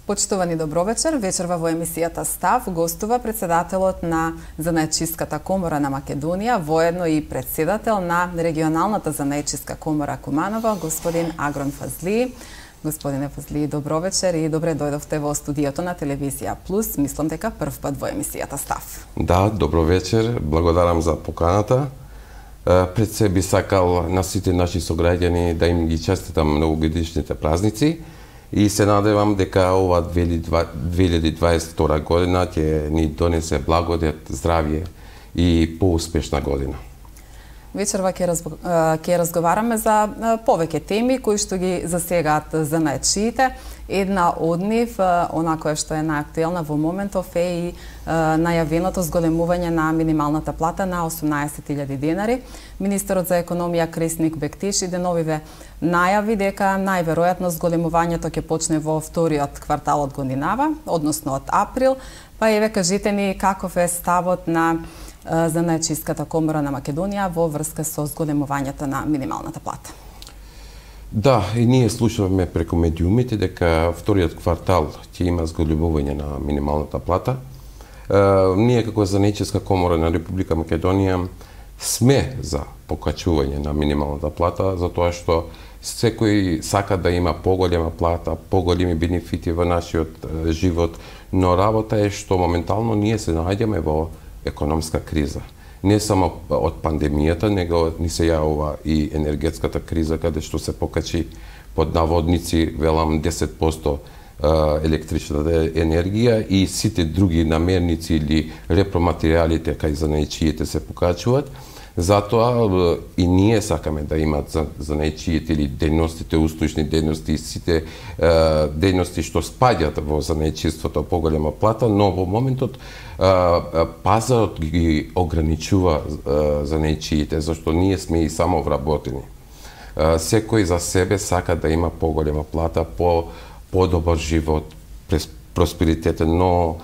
Почитувани добровечер, вечерва во емисијата Став гостува председателот на Занаетчиската комора на Македонија, воедно и председател на регионалната Занаетчиска комора Куманово, господин Агрон Фазли. Господине Фазли, добровечер и добре дојдовте во студиото на Телевизија Плюс. Мислам дека прв пат во емисијата Став. Да, добровечер, благодарам за поканата. Пред се би сакал на сите наши сограѓани да им ги честитам новогодишните празници и се надевам дека ова 2022 година ќе ни донесе благодет, здравје и поуспешна година. Вечерва ќе разговараме за повеќе теми кои што ги засегаат занаетчиите. Една од нив, она која што е најактуелна во моментов, е и најавеното зголемување на минималната плата на 18.000 денари. Министерот за економија Кресник Бектиши деновиве најави дека најверојатно зголемувањето ќе почне во вториот квартал од годинава, односно од април, па еве кажете ни каков е ставот на Занаетчиската комора на Македонија во врска со зголемувањето на минималната плата. Да, и ние слушавме преку медиумите дека вториот квартал ќе има зголемување на минималната плата. Ние како Занаетчиска комора на Република Македонија сме за покачување на минималната плата, затоа што секој сака да има поголема плата, поголеми бенефити во нашиот живот, но работа е што моментално ние се наоѓаме во економска криза. Не само од пандемијата, него ни се јавува и енергетската криза, каде што се покачи под наводници, велам 10% електричната енергија и сите други намерници или репроматеријалите кај занаетчиите се покачуваат. Затоа и ние сакаме да имат занаетчиите или дејностите, услужни дејности и сите дејности што спаѓат во занаетчиството поголема плата, но во моментот пазарот ги ограничува занаетчиите, зашто ние сме и самовработени. Секој за себе сака да има поголема плата, подобар живот, просперитетен, но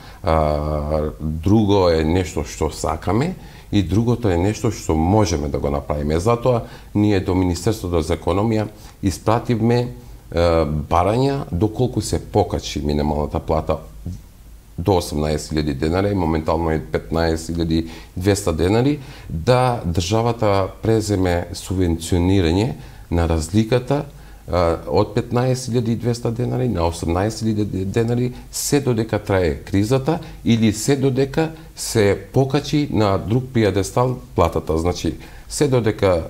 друго е нешто што сакаме и другото е нешто што можеме да го направиме. Затоа ние до Министерството за економија испративме барања доколку се покачи минималната плата до 18.000 денари и моментално е 15.200 денари, да државата преземе субвенционирање на разликата од 15.200 денари на 18.000 денари се додека трае кризата или се додека се покачи на друг пиедестал платата. Значи, се додека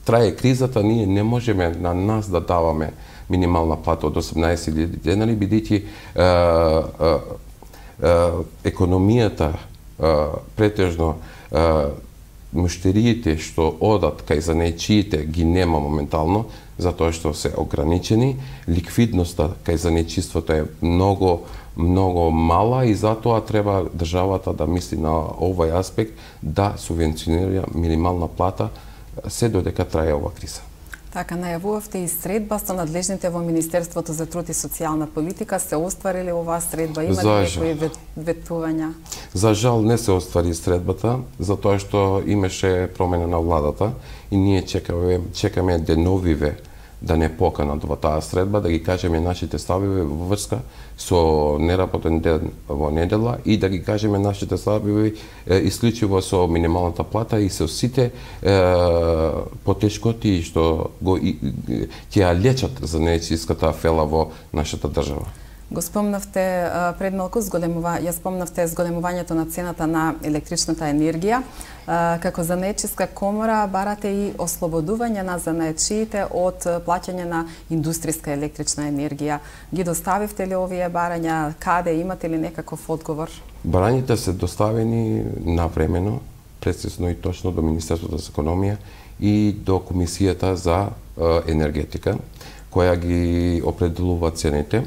трае кризата, ние не можеме на нас да даваме минимална плата од 18.000 денари, бидејќи економијата претежно муштериите што одат кај занаетчиите ги нема моментално, затоа што се ограничени, ликвидноста кај занаетчиството е многу мала и затоа треба државата да мисли на овој аспект да субвенционира минимална плата се додека трае ова криза. Така, најавувавте и средба со надлежните во Министерството за труд и социјална политика. Се остварили оваа средба? Има ли некои ветувања? За жал не се оствари средбата, затоа што имаше промена на владата и ние чекаме деновиве да не поканат во таа средба, да ги кажеме нашите ставови во врска со неработен ден во недела и да ги кажеме нашите ставови исклучиво со минималната плата и со сите потешкоти што ќе ја лечат занаетчиската фела во нашата држава. Го спомнавте пред малку зголемувањето на цената на електричната енергија. Како Занаетчиска комора барате и ослободување на занаетчиите од плаќање на индустријска електрична енергија. Ги доставивте ли овие барања? Каде? Имате ли некаков одговор? Барањата се доставени навремено, прецизно и точно до Министерството за економија и до Комисијата за енергетика, која ги определува цените.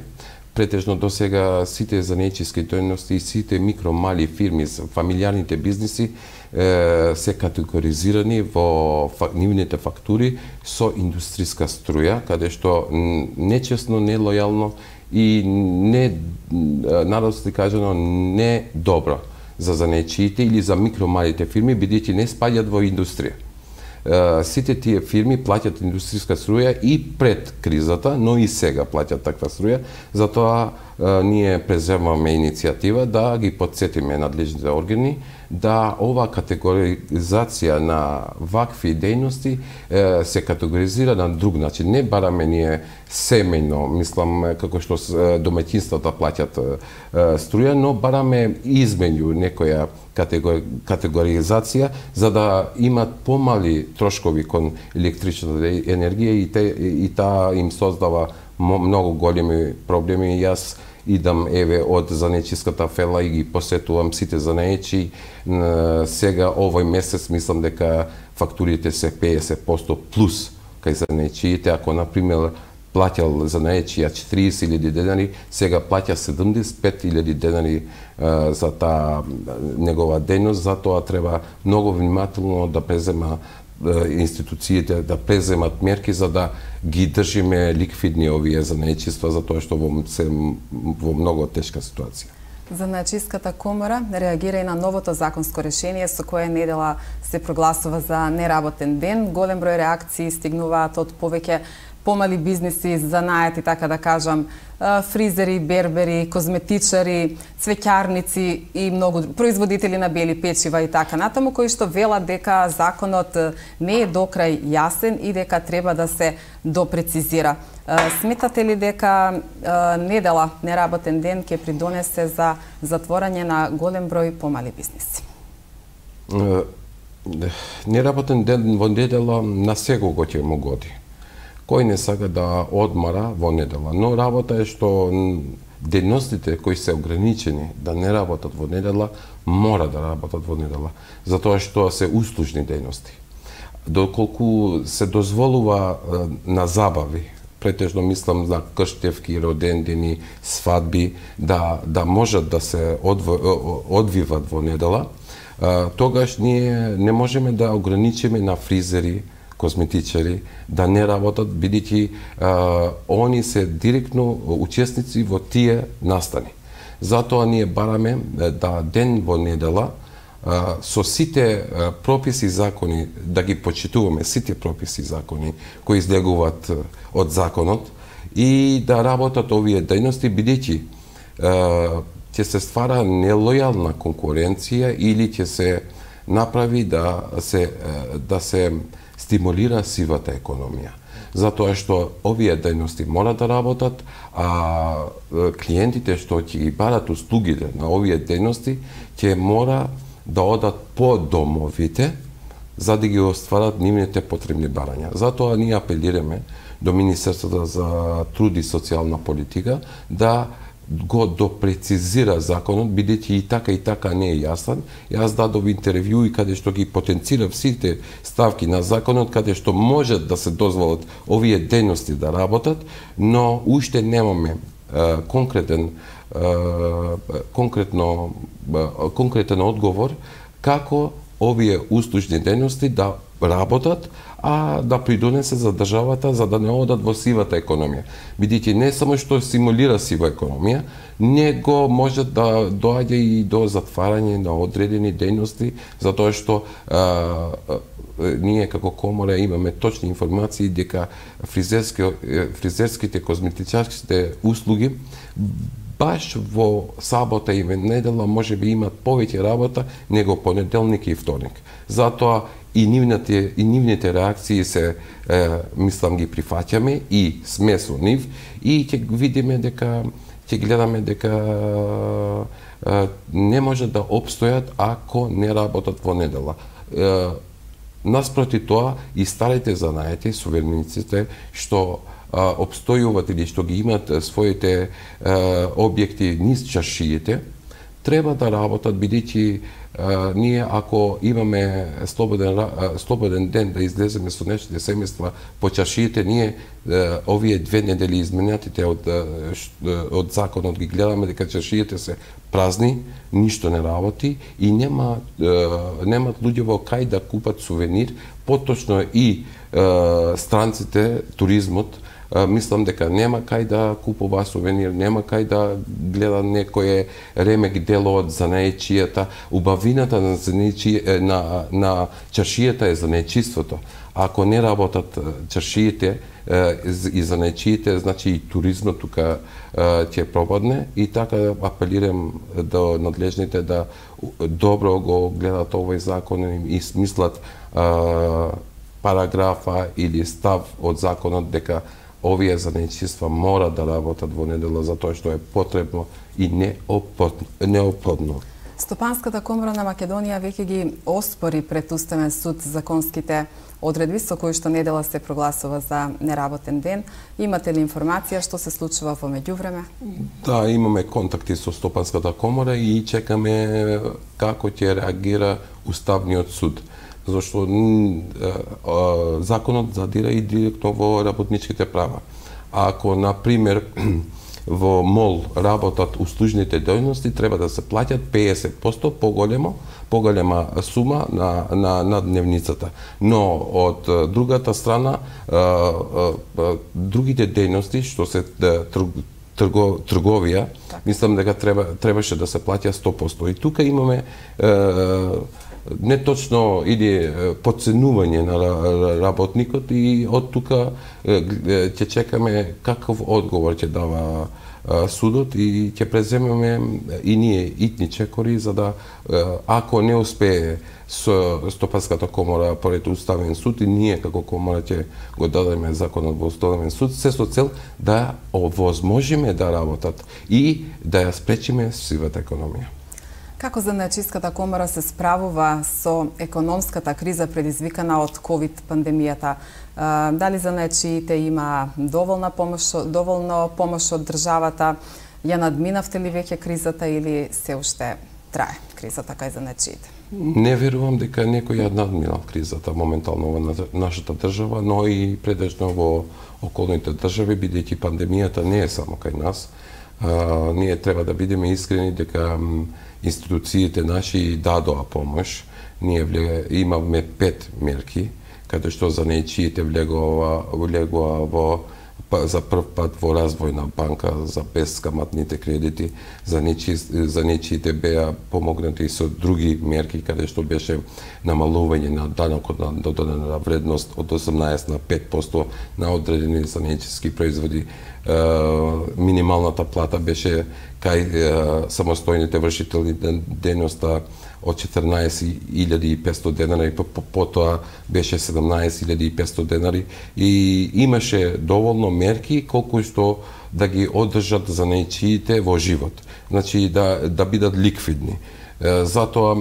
Претежно до сега сите занаетчиски дејности и сите микро-мали фирми, фамилијарните бизниси се категоризирани во нивните фактури со индустријска струја, каде што нечесно, нелојално и не, народски кажано, не добро за занаетчиите или за микро-малите фирми, бидејќи не спаѓаат во индустрија. Сите тие фирми плаќаат индустријска струја и пред кризата, но и сега плаќаат таква струја, затоа ние преземаме иницијатива да ги потсетиме надлежните органи да ова категоризација на вакви дејности се категоризира на друг начин. Не бараме ние семејно, мислам, како што домаќинствата плаќат струја, но бараме измеѓу некоја категоризација за да имат помали трошкови кон електричната енергија и таа им создава многу големи проблеми. Јас идам од занечиската фела и ги посетувам сите занечи. Сега овој месец мислам дека фактурите се 50% плюс кај занечиите. Ако на пример плаќал занечија 40.000 денари, сега плаќа 75.000 денари за таа негова дејност. Затоа треба многу внимателно да презема институциите да преземат мерки за да ги држиме ликвидни овие занечиства, затоа што се во многу тешка ситуација. Занаечиската комора реагира и на новото законско решение со кое недела се прогласува за неработен ден. Голем број реакции стигнуваат од повеќе помали бизниси, занаети, така да кажам, фризери, бербери, козметичари, цвеќарници и многу производители на бели печива и така натаму, кои што велат дека законот не е до крај јасен и дека треба да се допрецизира. Сметате ли дека недела, неработен ден, ќе придонесе за затворање на голем број помали бизниси? Неработен ден во недела на секого ќе му годи. Кој не сака да одмара во недела, но работа е што дејностите кои се ограничени да не работат во недела, мора да работат во недела, затоа што се услужни дејности. Доколку се дозволува на забави, претежно мислам на крштевки, родендени, свадби, да можат да се одвиват во недела, тогаш ние не можеме да ограничиме на фризери, козметичари да не работат, бидејќи они се директно учесници во тие настани. Затоа ние бараме да ден во недела со сите прописи и закони, да ги почитуваме сите прописи и закони кои излегуваат од законот и да работат овие дејности, бидејќи ќе се ствара нелојална конкуренција или ќе се направи да се стимулира сивата економија. Затоа што овие дејности мора да работат, а клиентите што ќе ги барат услугите на овие дејности ќе мора да одат по домовите за да ги остварат нивните потребни барања. Затоа ние апелираме до Министерството за труд и социјална политика да го допрецизира законот, бидејќи и така не е јасен. Јас дадов интервју и каде што ги потенцирав сите ставки на законот, каде што може да се дозволат овие дејности да работат, но уште немаме конкретен одговор како овие услужни дејности да работат, а да придонесе за државата за да не одат во сивата економија. Бидејќи не само што симулира сива економија, него може да доаѓа и до затварање на одредени дејности, затоа што ние како комора имаме точни информации дека фризерските, козметичарските услуги баш во сабота и недела може би имат повеќе работа него понеделник и вторник. Затоа и нивните реакции се мислам ги прифаќаме и сме со нив и ќе видиме дека ќе гледаме дека не може да опстојат ако не работат во недела. Наспроти тоа и старите занаети, суверениците што опстојуват или што ги имат своите објекти низ чаршиите, треба да работат, бидејќи ние ако имаме слободен ден да излеземе со нашите семејства по чаршиите, ние овие 2 недели изменатите од законот ги гледаме дека чаршиите се празни, ништо не работи и немат луѓе во кај да купат сувенир, поточно и странците, туризмот, мислам дека нема кај да купува сувенир, нема кај да гледа некое ремек дело од занаечијата. Убавината на чаршијата е занаечиството, Ако не работат чаршиите и занајчиите, значи и туризмот тука ќе пропадне, и така апелирам до надлежните да добро го гледат овој закон и смислат параграфа или став од законот дека овие занајчиства мора да работат во недела затоа што е потребно и неопходно. Стопанската комора на Македонија веќе ги оспори пред Уставен суд законските одредби со кои што недела се прогласува за неработен ден. Имате ли информација што се случува во меѓувреме? Да, имаме контакти со Стопанската комора и чекаме како ќе реагира Уставниот суд. Зашто законот задира и директно во работничките права. Ако, например, во МОЛ работат услужните дејности, треба да се плаќат 50% поголема сума на дневницата. Но од другата страна, другите дејности што се трговија, мислам дека требаше да се плаќа 100%. И тука имаме неточно или подценување на работникот, и од тука ќе чекаме каков одговор ќе дава судот, и ќе преземеме и ние итни чекори за да, ако не успее со Стопанската комора поред Уставен суд, и ние како комора ќе го дадеме законот во Уставен суд, се со цел да овозможиме да работат и да ја спречиме сивата економија. Како Занајчиската комора се справува со економската криза предизвикана од ковид пандемијата? Дали занајчиите има доволно помош од државата? Ја надминавте ли веќе кризата или се уште трае кризата кај занајчиите? Не верувам дека некој ја надминал кризата моментално во нашата држава, но и предежно во околните држави, бидејќи пандемијата не е само кај нас. Ние треба да бидеме искрени дека институциите наши дадоа помош. Ние имаме 5 мерки, каде што занајчиите влегоа за прв пат во развојна банка за бескаматните кредити. Занајчиите беа помогнати со други мерки, каде што беше намалување на данокот на додадена вредност од 18 на 5% на одредени занајчиски производи. Минималната плата беше кај самостојните вршители дејноста од 14.500 денари, потоа беше 17.500 денари, и имаше доволно мерки колку што да ги одржат занајчиите во живот, значи да бидат ликвидни. Затоа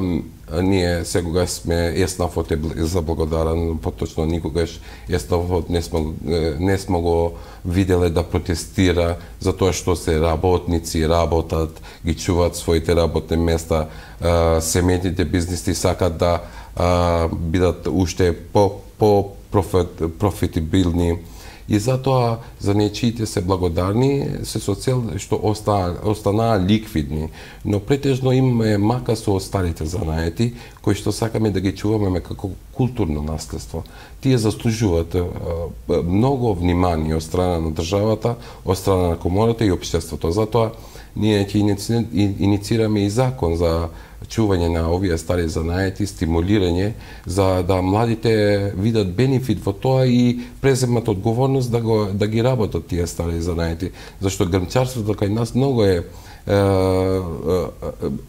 ние секогаш сме ЕСНАФот е заблагодарен, поточно никогаш ЕСНАФот не сме го виделе да протестира за тоа што се работници работат, ги чуваат своите работни места, семејните бизниси сакат да бидат уште профитабилни. И затоа занајчиите се благодарни, се со цел што останаа ликвидни. Но претежно имаме мака со старите занаети, кои што сакаме да ги чуваме како културно наследство. Тие заслужуваат многу внимание од страна на државата, од страна на комората и општеството. Затоа ние ќе иницираме и закон за чување на овие стари занаети, стимулирање, за да младите видат бенефит во тоа и преземат одговорност да ги работат тие стари занаети. Зашто грмчарството кај нас многу е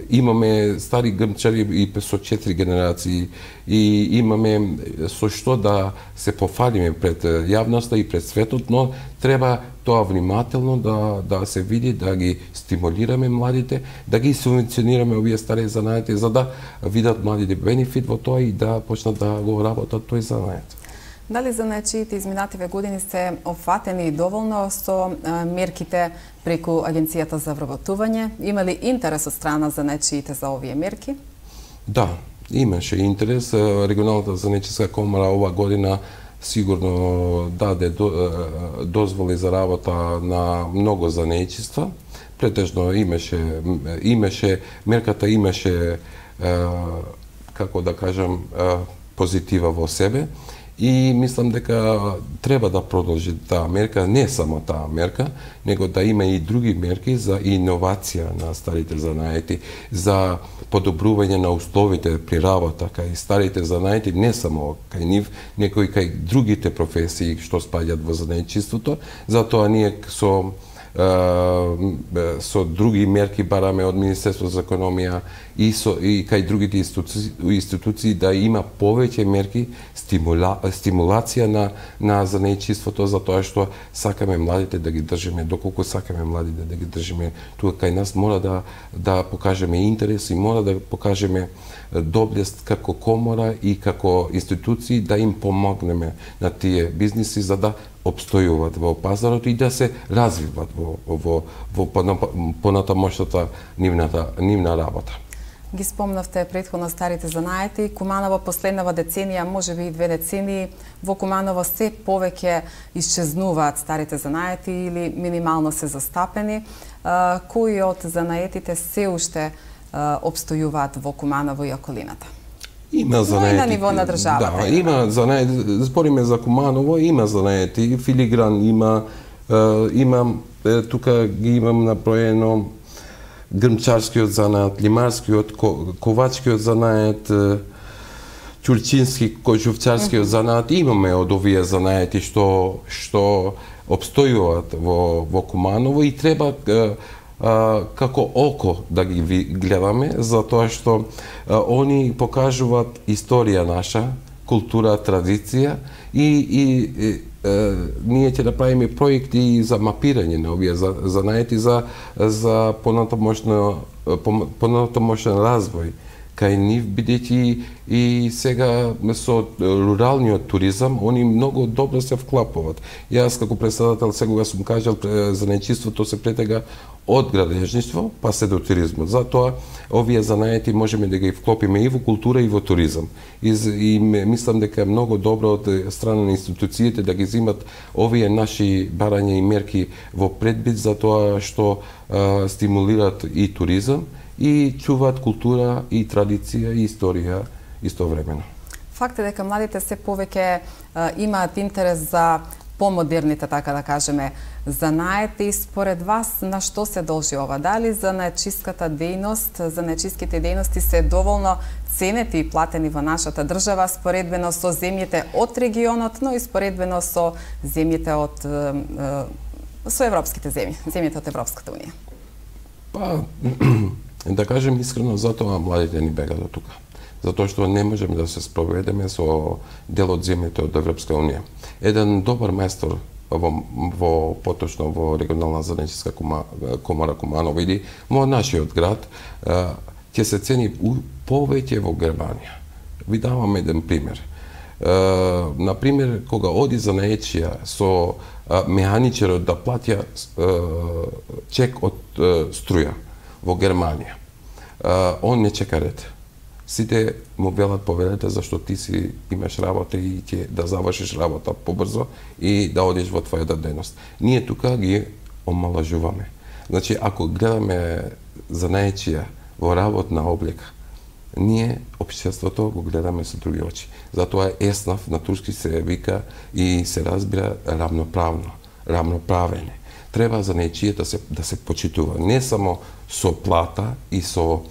имаме стари грмчари и со 4 генерации, и имаме со што да се пофалиме пред јавноста и пред светот, но треба тоа внимателно да се види, да ги стимулираме младите, да ги субвенционираме овие стари занаети, за да видат младите бенефит во тоа и да почнат да го работат тој занает. Дали занајчиите изминативе години се опфатени доволно со мерките преку Агенцијата за вработување? Има ли интерес од страна занајчиите за овие мерки? Да, имаше интерес. Регионалната занајчиска комора ова година сигурно даде дозволи за работа на многу занајчиства. Претежно мерката имаше, како да кажам, позитива во себе. И мислам дека треба да продолжи таа мерка, не само таа мерка, него да има и други мерки за иновација на старите занаети, за подобрување на условите при работа кај старите занаети, не само кај нив, него и кај другите професии што спаѓаат во занаетчиството. Затоа ние со други мерки бараме од Министерството за економија и кај другите институции да има повеќе мерки стимулација на занаетчиството, затоа што сакаме младите да ги држиме, доколку сакаме младите да ги држиме тука кај нас, мора да покажеме интерес и мора да покажеме доблест како комора и како институции да им помогнеме на тие бизниси за да обстојуваат во пазарот и да се развиваат во понатамошната нивна работа. Ги спомнавте претходно старите занаети. Куманово последнава деценија, можеби и 2 децении, во Куманово се повеќе исчезнуваат старите занаети или минимално се застапени. Кои од занаетите се уште обстојуваат во Куманово и околината? Има занаети. На ниво на државата. Да, има занаети. Збориме за Куманово, има занаети, филигран има, тука ги имам наброено грмчарскиот занаат, лимарскиот, ковачкиот занаат, ќурчински, кожувчарскиот занаат. Имаме од овие занаети што обстојуваат во Куманово и треба како око да ги гледаме, затоа што они покажуваат историја наша, култура, традиција и ние ќе направиме проекти за мапирање на овие занаети за понатамошен развој кај нив, бидејќи и сега со руралниот туризам, они многу добро се вклапуваат. Јас како председател сега сум кажал, занаетчиството се претега од градежништво па се до туризмот. Затоа овие занаети можеме да ги вклопиме и во култура и во туризам. И мислам дека е многу добро од страна на институциите да ги земат овие наши барања и мерки во предбит, затоа што стимулираат и туризам и чуваат култура и традиција и историја истовремено. Факт е дека младите се повеќе имаат интерес за помодерните, така да кажеме, занаети. Според вас, на што се должи ова? Дали занаетчиската дејност, занаетчиските дејности се доволно ценети и платени во нашата држава, споредбено со земјите од регионот, но и споредбено со земјите со европските земјите од Европската унија? Па, да кажем искрено, затоа младите ни бегаат до тука. Затоа што не можеме да се спроведеме со дел од земјите од Европска унија. Еден добар мајстор поточно во регионална занаетчиска комора Куманово или во нашиот град ќе се цени повеќе во Германија. Ви давам еден пример. На пример, кога оди занаетчија со механичерот да платја чек од струја во Германија, он не чека ред. Сите му велат повелете зашто ти си имаш работа и ќе да завршиш работа побрзо и да одиш во твојата дејност. Ние тука ги омалажуваме. Значи, ако гледаме занаетчија во работна облека, ние општеството го гледаме со други очи. Затоа еснав на турски се вика и се разбира равноправење. Треба занаетчијата да се почитува не само со плата и со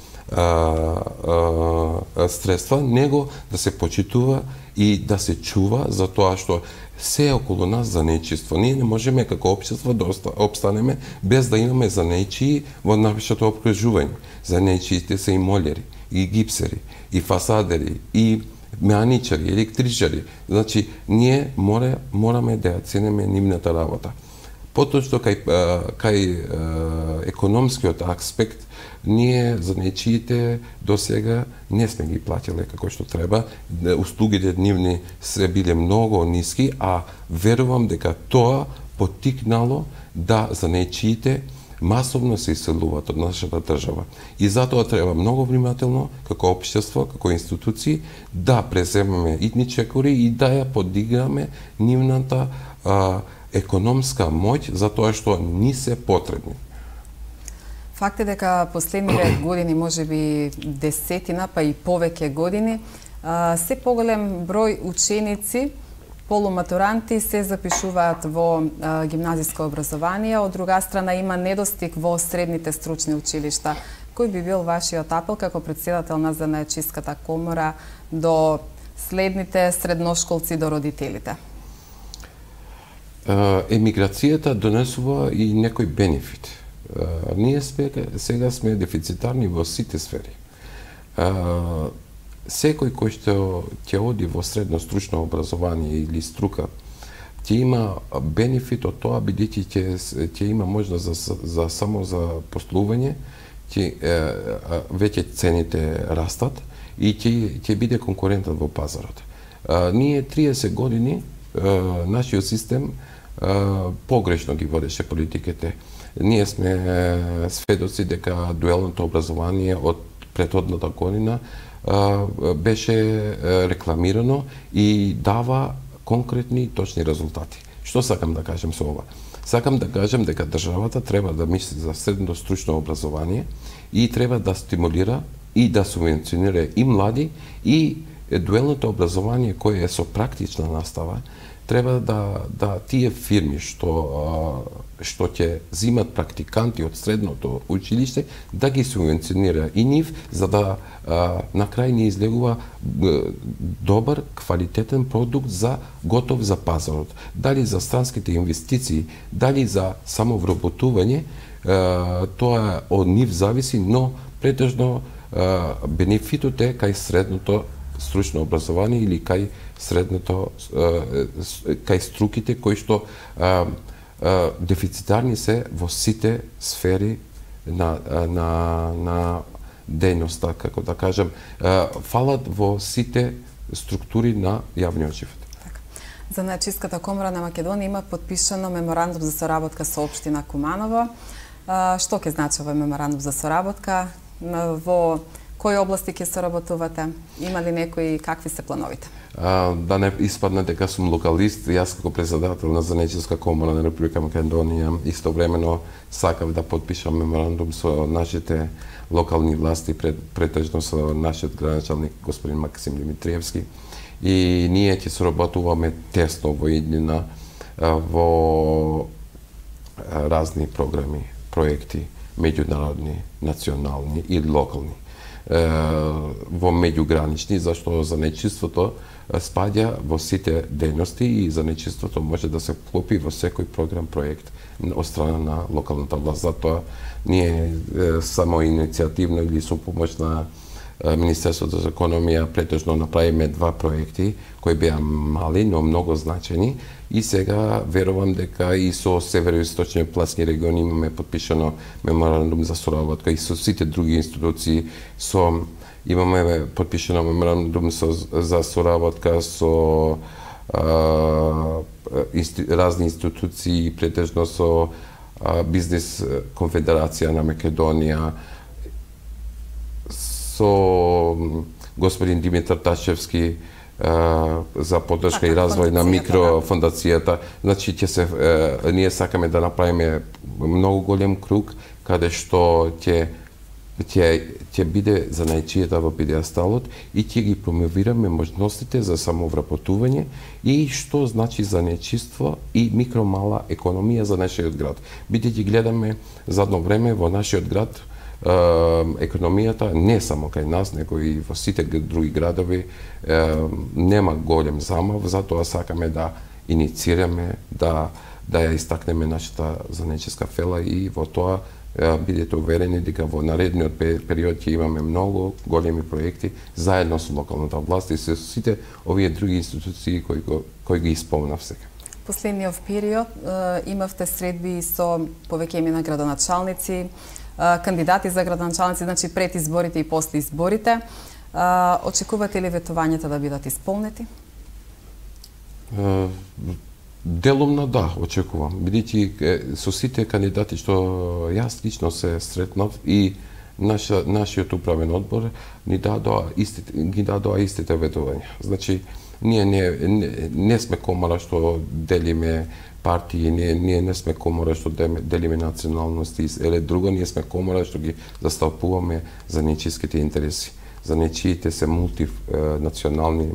средства, него да се почитува и да се чува, затоа што се околу нас занаетчиство. Ние не можеме како општество да обстанеме без да имаме занаетчии во нашето окружување. Занаетчиите се и молери, и гипсери, и фасадери, и механичари, електричари. Значи, ние мораме да ја цениме нивната работа. Поточно кај економскиот аспект, ние занаетчиите до сега не сме ги платиле како што треба. Услугите нивни се биле многу ниски, а верувам дека тоа поттикнало да занаетчиите масовно се иселуваат од нашата држава. И затоа треба многу внимателно, како општество, како институции, да преземеме итничекори и да ја подигаме нивната економска моќ, затоа што ни се потребни. Факт е дека последниве години, можеби десетина, па и повеќе години, се поголем број ученици полуматуранти се запишуваат во гимназиско образование, од друга страна има недостиг во средните стручни училишта. Кој би бил вашиот апел како претседател на Занаетчиската комора до следните средношколци, до родителите? Емиграцијата донесува и некој бенефит. Ние сега сме дефицитарни во сите сфери. Секој кој што ќе оди во средно стручно образование или струка, ќе има бенефит од тоа, бидејќи ќе има можност за само за послување, веќе цените растат и ќе биде конкурентен во пазарот. Ние 30 години нашиот систем погрешно ги водеше политиките. Ние сме сведоци дека дуелното образование од претходната година беше рекламирано и дава конкретни и точни резултати. Што сакам да кажем со ова? Сакам да кажем дека државата треба да мисли за средно стручно образование и треба да стимулира и да субвенционира и млади и дуелното образование кое е со практична настава. Треба да тие фирми што ќе зимат практиканти од средното училиште, да ги субвенционира и нив, за да на крај не излегува добар, квалитетен продукт готов за пазарот. Дали за странските инвестиции, дали за самовработување, тоа од нив зависи, но претежно бенефитот е кај средното стручно образование или кај средното, кај струките кои што дефицитарни се во сите сфери на дејноста, како да кажем, фалат во сите структури на јавниот живот. Занаетчиската комора на Македонија има подпишано меморандум за соработка со општина Куманово. Што ќе значи овој меморандум за соработка? Во кои области ќе соработувате? Има ли некои, какви се плановите? Да не испадне дека сум локалист, јас како председател на Занаетчиска комора на Република Македонија истовремено сакав да подпишам меморандум со нашите локални власти, претежно со нашиот градоначалник господин Максим Димитриевски, и ние ќе соработуваме тесно во иднина во разни програми, проекти, меѓународни, национални и локални, во меѓугранични, зашто занаетчиството спаѓа во сите дејности и занаетчиството може да се вклопи во секој програм, проект од страна на локалната власт. Затоа ние само иницијативно или со помош на Министерството за економија претежно направиме 2 проекти кои беа мали, но многу значени, и сега верувам дека и со североисточниот плански регион имаме подпишано меморандум за соработка и со сите други институции, имаме подпишано меморандум за соработка со разни институции, претежно со Бизнес конфедерација на Македонија, со господин Димитар Ташевски за поддршка и развој на микрофондацијата. Значи, ние сакаме да направиме многу голем круг, каде што ќе биде занаетчијата во педиасталот и ќе ги промовираме можностите за самовработување и што значи занаетчиство и микромала економија за нашиот град. Бидејќи гледаме задно време во нашиот град, економијата не само кај нас, него и во сите други градови нема голем замав, затоа сакаме да иницираме, да ја истакнеме нашата занаетчиска фела и во тоа бидете уверени дека во наредниот период ќе имаме многу големи проекти заедно со локалната власт и со сите овие други институции кои ги исполнав сега. Последниот период имавте средби со повеќе имена градоначалници, кандидати за градоначалници, значи пред изборите и после изборите. Очекувате ли ветувањата да бидат исполнети? Делумно да, очекувам. Бидејќи со сите кандидати што јас лично се сретнав и нашиот управен одбор ги дадоа истите ветувања. Значи, ние не сме комора што делиме партии, ние не сме комора што делиме националности или друго, ние сме комора што ги застапуваме занаетчиските интереси. Занаетчиите се мултинационални,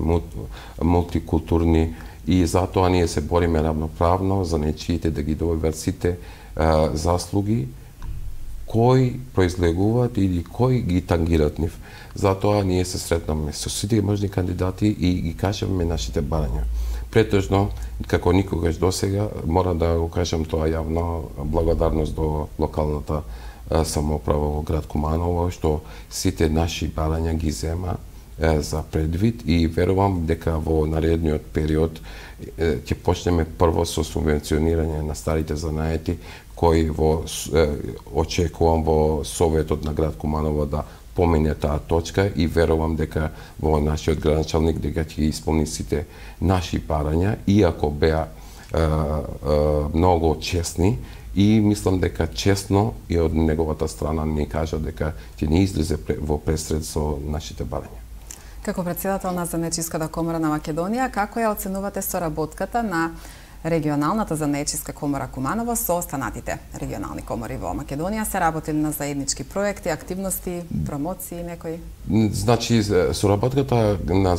мултикултурни и затоа ние се бориме равноправно за нечиите да ги добиват сите заслуги кои произлегуваат или кои ги тангираат нив. Затоа ние се сретнаме со сите можни кандидати и ги кажеме нашите барања. Претежно, како никогаш досега, мора да го кажам тоа јавно, благодарност до локалната самоуправа во град Куманово, што сите наши барања ги зема за предвид и верувам дека во наредниот период ќе почнеме прво со субвенционирање на старите занаети, кои очекувам во Советот на град Куманово да помене таа точка и верувам дека во нашиот градоначалник дека ќе исполни сите наши барања, иако беа многу честни и мислам дека честно и од неговата страна ни кажа дека ќе не излезе во пресред со нашите барања. Како претседател на Занечиската комора на Македонија, како ја оценувате соработката на регионалната Занечиска комора Куманово со останатите регионални комори во Македонија? Се работи на заеднички проекти, активности, промоции некои? Значи, соработката на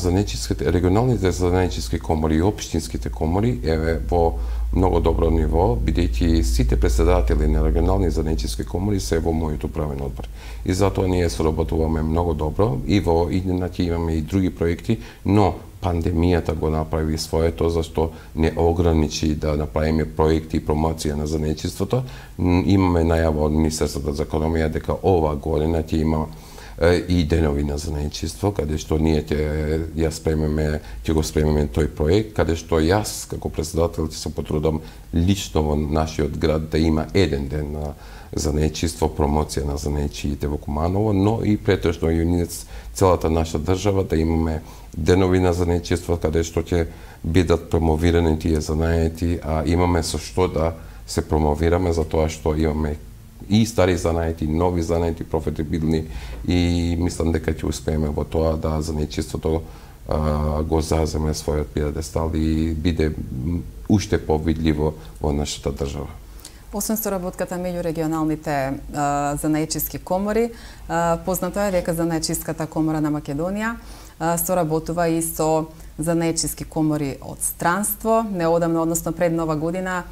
регионалните занечиски комори и општинските комори е во многу добро ниво, бидејќи сите претседатели на регионални занечиски комори се во мојот управен одбор. И затоа ние соработуваме многу добро и во иднина ќе имаме и други проекти, но пандемијата го направи своето, зашто не ограничи да направиме проекти и промоција на занечиството. Имаме најава од Министерството за економија дека ова година ќе има и денови на занечиство, каде што ние ќе го спремиме тој проект, каде што јас како претседател ќе се потрудам лично во нашиот град да има еден ден на занечиство, промоција на занечиите во Куманово, но и претежно и целата наша држава да имаме денови на занечиство каде што ќе бидат промовирани тие занаети, а имаме со што да се промовираме за тоа што имаме и стари занаети, нови занаети, профитабилни и мислам дека ќе успееме во тоа да занечиството го заземе својот пиедестал и биде уште повидливо во нашата држава. Освен соработката меѓу регионалните занаечиски комори, познато е дека Занаечиската комора на Македонија соработува и со занаечиски комори од странство. Неодамно, односно пред Нова година,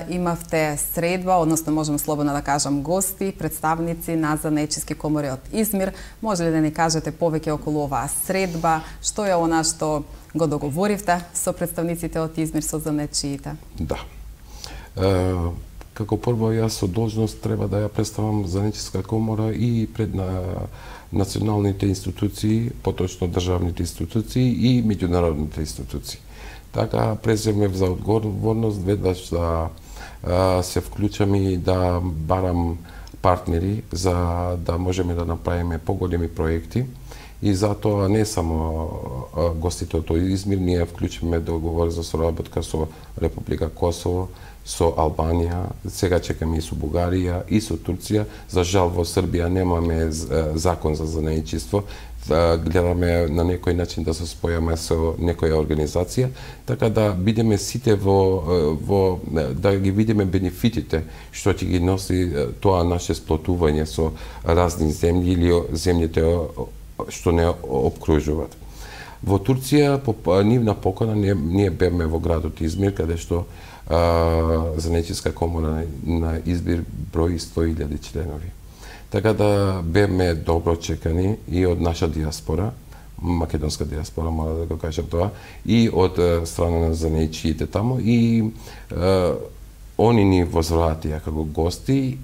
имавте средба, односно можам слободно да кажам гости, представници на занаечиски комори од Измир. Може ли да ни кажете повеќе околу оваа средба? Што е она што го договоривте со представниците од Измир, со занаечиите? Да. Како прво, јас со должност треба да ја представам Занаечиска комора и пред националните институции, поточно државните институции и меѓународните институции. Така преземев за одговорност веднаш да се вклучам и да барам партнери за да можеме да направиме поголеми проекти. И затоа не само гостите од Измир, ние вклучиме договор за соработка со Република Косово, со Албанија, сега чекаме и со Бугарија, и со Турција. За жал во Србија немаме закон за занаечиство, гледаме на некој начин да се спојаме со некоја организација, така да бидеме сите да ги видиме бенефитите што ќе ги носи тоа наше сплотување со разни земји или земјите што не обкружуваат. Во Турција, по нивна покана, ние бевме во градот Измир, каде што Занаечиска комора на Измир брои 100.000 членови. Така да бевме добро чекани и од наша диаспора, македонска диаспора, мора да го кажам тоа, и од страна на занаечиите таму, и они ни возвратија како гости.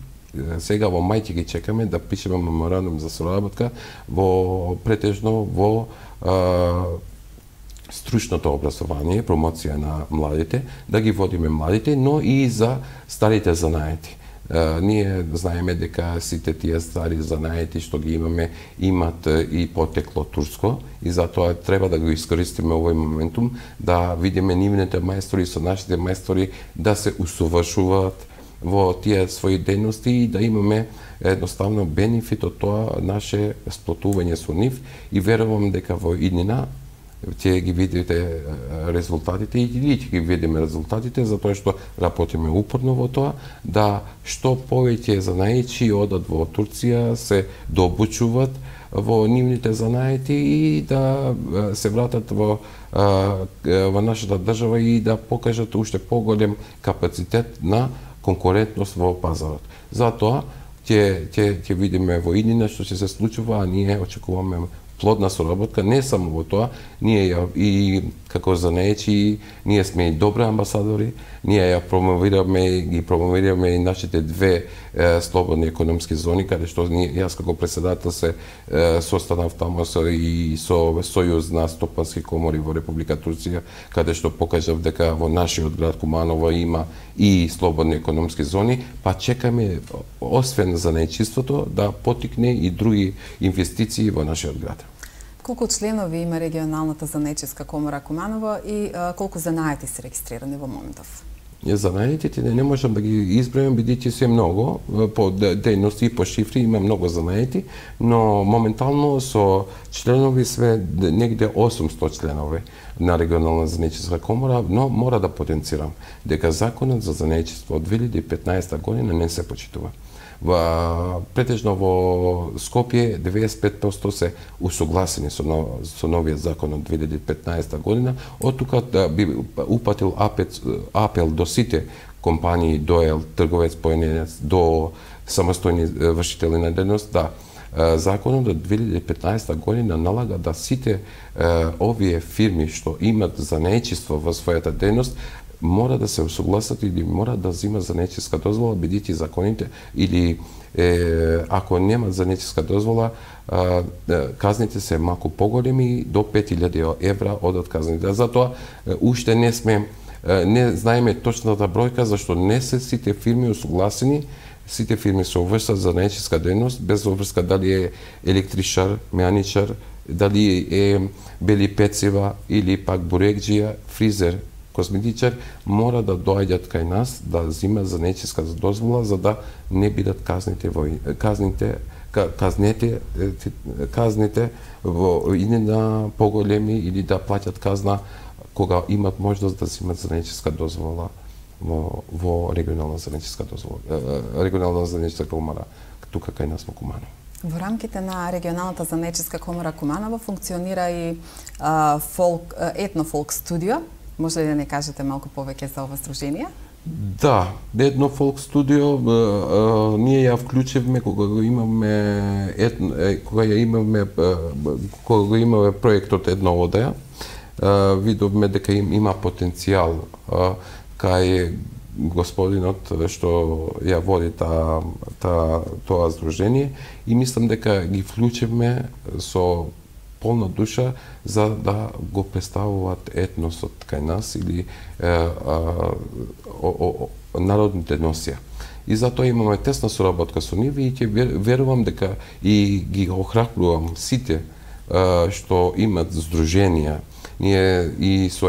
Сега во мај ќе ги чекаме да пишеме меморандум за соработка претежно во стручното образование, промоција на младите, да ги водиме младите, но и за старите занаети. Ние знаеме дека сите тие стари занаети што ги имаме имат и потекло турско и затоа треба да го искористиме овој моментум да видиме нивните мајстори со нашите мајстори да се усовршуваат во тие своји дејности и да имаме едноставно бенефит од тоа наше сплотување со нив и верувам дека во иднина ќе ги видите резултатите или ќе ги видиме резултатите затоа што работиме упорно во тоа да што повеќе занаечи одат во Турција, се дообучуваат во нивните занаети и да се вратат во во нашата држава и да покажат уште поголем капацитет на конкурентност во пазарот. Затоа ќе видиме во иднина што ќе се случува, а ние очекуваме плодна соработка, не само во тоа, ние и како занаечи, ние сме и добри амбасадори, ние ја промовираме и нашите две слободни економски зони, каде што јас како председател се состанав таму и со Сојуз на стопански комори во Република Турција, каде што покажав дека во нашиот град Куманово има и слободни економски зони, па чекаме освен занаечиството да потикне и други инвестиции во нашиот град. Колку членови има регионалната занаечиска комора Куманово и колку занаети се регистрирани во моментов? Занаетите не можам да ги избројам, бидејќи се многу, по дејности и по шифри има многу занаети, но моментално со членови све негде 800 членови на регионална занаечиска комора, но мора да потенцирам дека законот за занаечиство од 2015 година не се почитува. Претежно во Скопје 95% се усогласени со новиот закон од 2015 година. Од тука да би упатил апел до сите компании, до трговец поединец, до самостојни вршители на дејност, да законот од 2015 година налага да сите овие фирми што имат занаечиство во својата дејност мора да се усогласат или мора да зима занаечиска дозвола, бидејќи законите или ако немат занаечиска дозвола, казните се малку поголеми, до 5000 евра одат казните. Затоа уште не знаеме точната бројка, зашто не се сите фирми усогласени. Сите фирми се увршат за занаечиска дејност, без обврска дали е електричар, мејаничар, дали е бели пецива или пак бурекџија, фризер, косметичар, мора да доаѓат кај нас да зима занаечиска дозвола за да не бидат казните во иднина поголеми или да плаќат казна кога имат можност да зимат занаечиска дозвола во регионална занаечиска дозвола, регионална занаечиска комора тука кај нас во Куманово. Во рамките на регионалната занаечиска комора Куманово функционира и етнофолк студио. Може ли да не кажете малку повеќе за ова здружение? Да, едно фолк студио ние ја вклучивме кога имаме проектот Една одеја. Видовме дека има потенцијал кај господинот што ја води тоа здружение и мислам дека ги вклучивме со полна душа за да го представуваат етносот кај нас или народните носија. И затоа имаме тесна соработка со нив и ќе верувам дека и ги охрабрувам сите што имат здруженија. Ние и со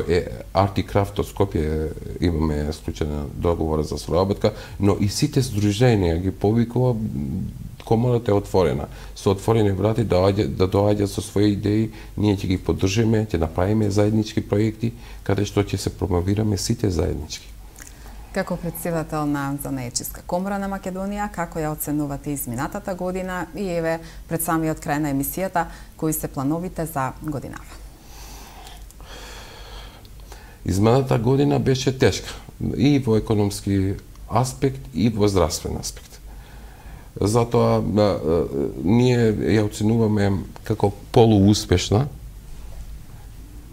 Арт и Крафт од Скопје имаме склучена договор за соработка, но и сите здруженија ги повикува. Комората е отворена. Со отворени врати да доаѓат со своји идеи, ние ќе ги поддржиме, ќе направиме заеднички проекти, каде што ќе се промовираме сите заеднички. Како претседател на Занаечиска комора на Македонија, како ја оценувате изминатата година и еве пред самиот крај на емисијата, кои се плановите за годинава? Изминатата година беше тешка и во економски аспект и во здравствен аспект. Затоа ние ја оценуваме како полууспешна,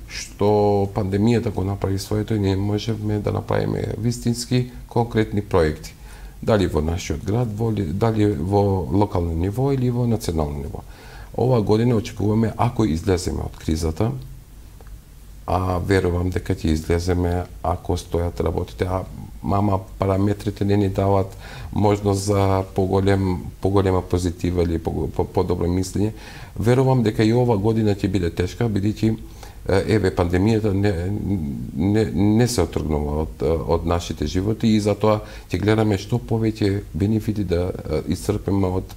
што пандемијата го направи своето и ние можеме да направиме вистински конкретни проекти. Дали во нашиот град, дали во локално ниво или во национално ниво. Ова година очекуваме, ако излеземе од кризата, а верувам дека ќе излеземе ако стојат работите, мама параметрите не ни дават можност за поголема позитива или подобро мислење. Верувам дека и ова година ќе биде тешка, бидејќи еве пандемијата не се отргнува од нашите животи и затоа ќе гледаме што повеќе бенефити да исцрпиме од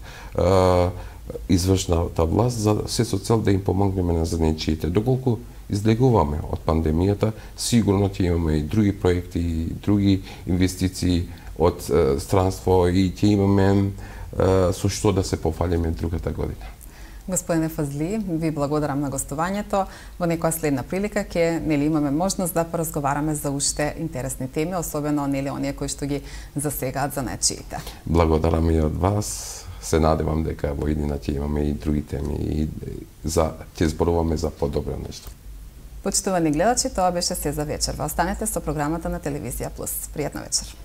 извршната власт за се со цел да им помогнеме на занаечиите. Доколку излегуваме од пандемијата, сигурно ќе имаме и други проекти, и други инвестиции од странство и ќе имаме со што да се пофалиме другата година. Господине Фазли, ви благодарам на гостувањето. Во некоја следна прилика ќе имаме можност да поразговараме за уште интересни теми, особено оние кои што ги засегаат за нечиите. Благодарам и од вас. Се надевам дека во иднина ќе имаме и други теми и ќе зборуваме за подобро нешто. Почитувани гледачи, тоа беше се за вечерва. Останете со програмата на Телевизија Плюс. Пријатна вечер.